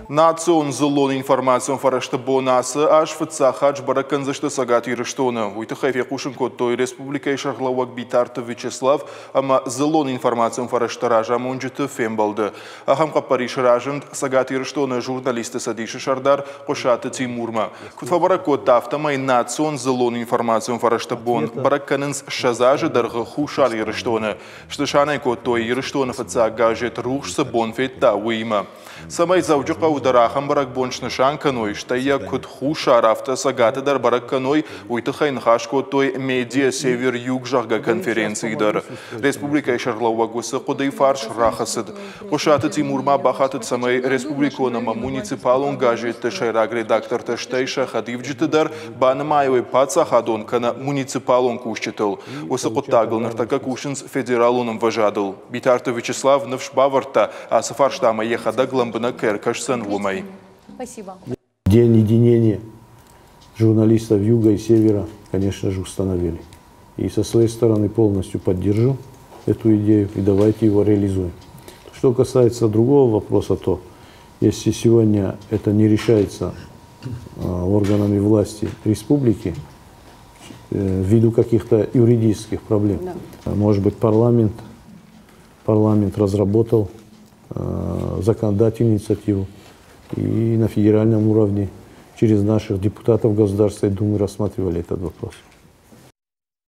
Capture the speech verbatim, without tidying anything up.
Национ дзыллон информацион фӕрӕзты бон ацы аз фыццаг хатт сбӕрӕг кӕндзысты Цӕгат Ирыстоны. Уый тыххӕй фехъусын кодтой республикӕйы сӕргълӕууӕг Битарты Вячеслав ӕмӕ дзыллон информацион фӕрӕзты разамонджыты фембӕлды. Ахӕм хъӕппӕрис разынд Цӕгат Ирыстоны журналистты цӕдисы сӕрдар Хъуысаты Тимурмӕ. Куыд фӕбӕрӕг кодта, афтӕмӕй национ дзыллон информацион фӕрӕзты бон бӕрӕг кӕнынц ссӕдз азы дӕргъы Хуссар Ирыстоны. Снысан ӕй кодтой, Ирыстоны фыццаг газет Рухс цы бон федта, уыимӕ. Цӕмӕй Дзӕуджыхъӕуы дӕр ахӕм бӕрӕгбон снысан кӕной, стӕй йӕ куыд Хуссар, афтӕ Цӕгаты дӕр бӕрӕг кӕной, уый тыххӕй ныхас кодтой Медиа Север-Юг, зӕгъгӕ, конференцийы дӕр. Республикӕйы сӕргълӕууӕг уыцы хъуыдыйы фарс рахӕцыд. Хъуысаты Тимур ма бахатыд, цӕмӕй республикон ӕмӕ муниципалон газетты сӕйраг редактортӕ, стӕй сӕ хӕдивджыты дӕр банымайой паддзахадон кӕнӕ муниципалон кусджытыл. Уыцы хъуыддагыл ныртӕккӕ кусынц федералон ӕмвӕзадыл. Битарты Вячеслав ныфс бавӕрдта, ацы фарстамӕ йӕхӕдӕг лӕмбынӕг кӕй ӕркӕсдзӕн, уымӕй. Спасибо. День единения журналистов Юга и Севера, конечно же, установили. И со своей стороны полностью поддержу эту идею, и давайте его реализуем. Что касается другого вопроса, то если сегодня это не решается органами власти республики э, ввиду каких-то юридических проблем, да, может быть, парламент, парламент разработал э, законодательную инициативу и на федеральном уровне через наших депутатов Государственной Думы рассматривали этот вопрос.